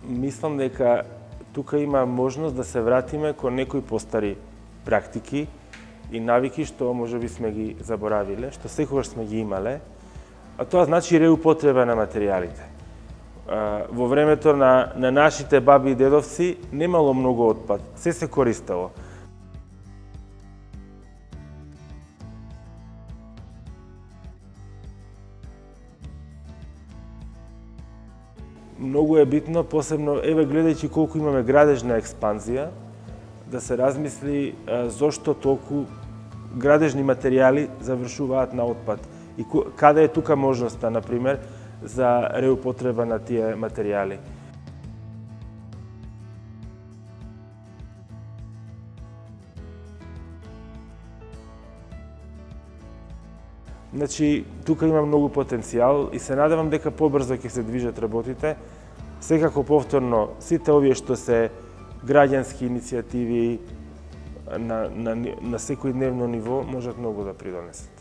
Мислам дека тука има можност да се вратиме кон некои постари практики и навики што можеби сме ги заборавиле, што секогаш сме ги имале, а тоа значи реупотреба на материјалите. Во времето на нашите баби и дедовци немало многу отпад, се користело. Многу е битно, посебно, гледајќи колку имаме градежна експанзија, да се размисли зошто толку градежни материјали завршуваат на отпад и каде е тука можноста, например, за реупотреба на тие материјали. Значи, тука има многу потенцијал и се надевам дека побрзо ќе се движат работите. Секако повторно, сите овие што се граѓански иницијативи на секојдневно ниво можат многу да придонесат.